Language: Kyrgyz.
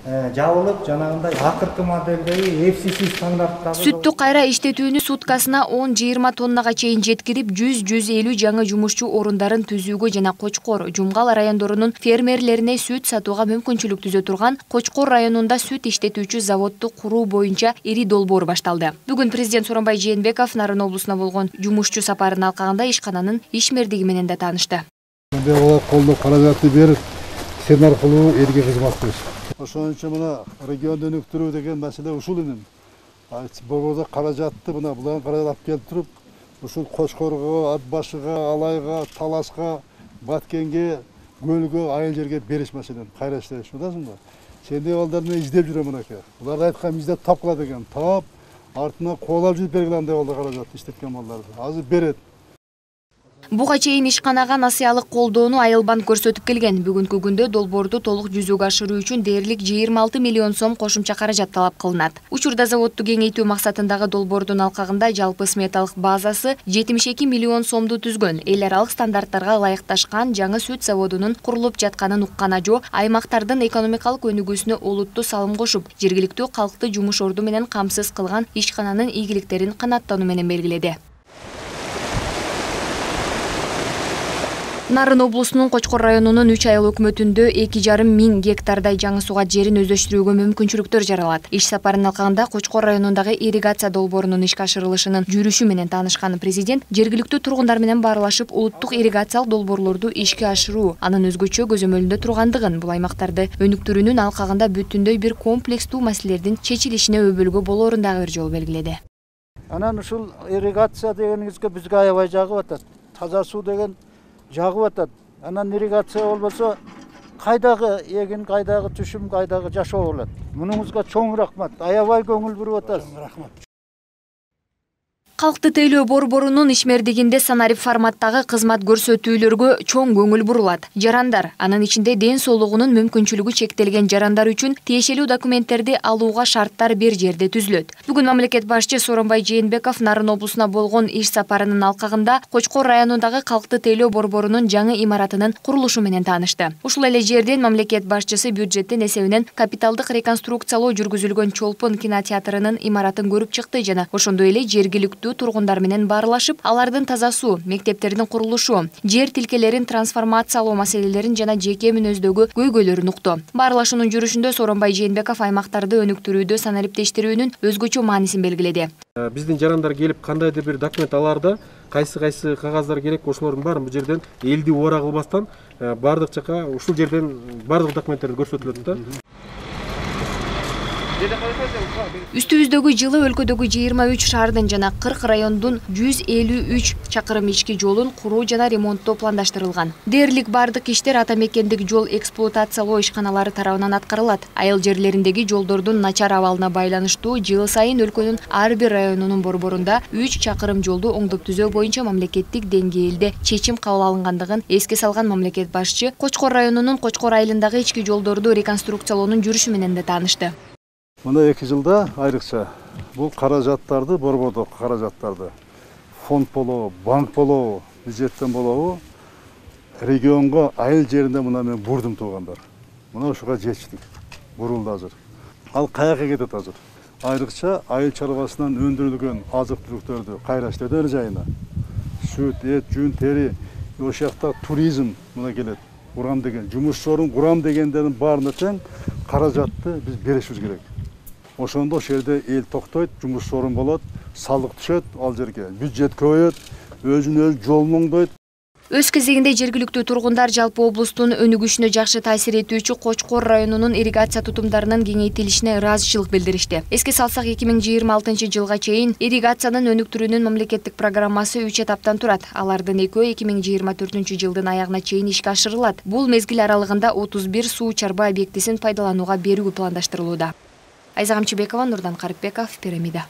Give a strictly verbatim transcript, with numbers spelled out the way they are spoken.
жабылып, жанагындай акыркы модельдеги эф си си стандарттагы сүттү кайра иштетүүнү суткасына он жыйырма тоннага чейин жеткирип, жүз жүз элүү жаңы жумушчу орундарын түзүүгө жана Кочкор, Жумгал райондорунун фермерлерине сүт сатууга мүмкүнчүлүк түзө турган Кочкор районунда сүт иштетүүчү заводду куруу боюнча ири долбоор башталды. Бүгүн президент Сооронбай Жээнбеков Нарын облусуна болгон жумушчу сапарын алкагында ишкананын ишмердиги менен да таанышты. Колдоо каражатты берип, сен аркылуу элге кызмат кылыш. Ошон үчүн мына регионду өнүктүрүү деген маселе ушул эми. Борбордо каражатты мына булар каражат алып келип туруп, ушул Кочкорго, Ат башыга, Алайга, Таласка, Баткенге, Көлгө, айыл жерге бериш маселени кайра иштеш, атасыңбы? Сендей балдар менен издеп жүрөм мынакей. Булар айткан издеп тапкыла деген. Таап, артына коолап жүрүп бергиле андай балдар каражат иштеткен балдарды. Азыр берет. Буга чейин ишканага насыялык колдоону Айыл банк көрсөтүп келген. Бүгүнкү күндө долбоорду толук жүзөгө ашыруу үчүн дээрлик жыйырма алты миллион сом кошумча каражат талап кылынат. Учурда заводду кеңейтүү максатындагы долбоордун алкагында жалпы сметалык базасы жетимиш эки миллион сомду түзгөн. Эл аралык стандарттарга ылайыкташкан жаңы сүт заводунун курулуп жатканын уккан ажо аймактардын экономикалык өнүгүүсүнө олуттуу салым кошуп, жергиликтүү калкты жумуш орду менен камсыз кылган ишкананын ийгиликтерин канааттануу менен белгиледи. Нарын облусунун Кочкор районунун үч айыл өкмөтүндө эки жарым миң гектардай жаңы суга жерин өздөштүрүүгө мүмкүнчүлүктөр жаралат. Иш сапарынын алкагында Кочкор районундагы ирригация долбоорунун ишке ашырылышынын жүрүшү менен таанышкан президент жергиликтүү тургундар менен баарлашып, улуттук ирригациялык долбоорлорду ишке ашыруу анын өзгөчө көзөмөлүндө тургандыгын, бул аймактарды өнүктүрүүнүн алкагында бүтүндөй бир комплекстүү маселелердин чечилишине өбөлгө болоорун дагы бир жолу белгиледи. Анан ушул ирригация дегениңизге бизге аябай жагып атат. Таза суу деген жагып атат. Анан ирригация болбосо кайдагы эгин, кайдагы түшүм, кайдагы жашоо болот. Мунуңузга чоң рахмат. Аябай көңүл буруп атасыз. Рахмат. Калкты тейлөө борборунун ишмердигинде санарип форматтагы кызмат көрсөтүүлөргө чоң көңүл бурулат. Жарандар, анын ичинде ден соолугунун мүмкүнчүлүгү чектелген жарандар үчүн тиешелүү документтерди алууга шарттар бир жерде түзүлөт. Бүгүн мамлекет башчы Сооронбай Жээнбеков Нарын облусуна болгон иш сапарынын алкагында Кочкор районундагы калкты тейлөө борборунун жаңы имаратынын курулушу менен таанышты. Ушул эле жерден мамлекет башчысы бюджеттин эсебинен капиталдык реконструкциялоо жүргүзүлгөн Чолпон кинотеатрынын имаратын көрүп чыкты жана ошондой эле жергиликтүү тургундар менен баарлашып, алардын таза суу, мектептердин курулушу, жер тилкелерин трансформациялоо маселелерин жана жеке мүнөздөгү көйгөйлөрүн укту. Баарлашуунун жүрүшүндө Сооронбай Жээнбеков аймактарды өнүктүрүүдө санариптештирүүнүн өзгөчө маанисин белгиледи. Биздин жарандар келип кандайдыр бир документ алаарда кайсы кайсы кагаздар керек, ошолордун баарын бул жерден элди убара кылбастан баардык жака ушул жерден баардык документтерди көрсөтүлөт да. Үстүбүздөгү жылы өлкөдөгү жыйырма үч шаардын жана кырк райондун жүз элүү үч чакырым ички жолун куруу жана ремонттоо пландаштырылган. Дээрлик бардык иштер ата мекендик жол эксплуатациялоо ишканалары тарабынан аткарылат. Айыл жерлериндеги жолдордун начар абалына байланыштуу жыл сайын өлкөнүн ар бир районунун борборунда үч чакырым жолду оңдоп түзөө боюнча мамлекеттик деңгээлде чечим кабыл алынгандыгын эске салган мамлекет башчы Кочкор районунун Кочкор айылындагы ички жолдорду реконструкциялоонун жүрүшү менен да таанышты. Мына эки жылда айрыкча бул каражаттарды, борбордо каражаттарды фонд болобу, банк болобу, бюджеттен болобу, регионго айыл жеринде мына мен бурдум туугандар. Мына ушуга жетиштик. Бурулду азыр. Ал каяка кетет азыр? Айрыкча айыл чарбасынан өндүрүлгөн азык-түлүктөрдү кайра иштетүү жайына. Сүт, эт, жүн, тери, ошол жакта туризм мына келет. Курам деген, жумуш орун курам дегендердин баарына тең каражатты биз беришибиз керек. Ошондо ошол жерде эл токтойт, жумуш орун болот, салык түшөт ал жерге, бюджет көбөйөт, өзүнө өзү жолун оңдойт. Өз кезегинде жергиликтүү тургундар жалпы облустун өнүгүшүнө жакшы таасир этүүчү Кочкор районунун ирригация тутумдарынын кеңейтилишине ыраазычылык билдиришти. Эске салсак, эки миң жыйырма алтынчы жылга чейин ирригациянын өнүктүрүүнүн мамлекеттик программасы үч этаптан турат. Алардын экөө эки миң жыйырма төртүнчү жылдын аягына чейин ишке ашырылат. Бул мезгил аралыгында отуз бир суу чарба объектисин пайдаланууга берүү пландаштырылууда. Айза Камчыбекова, Нурдан Карипбеков, Пирамида.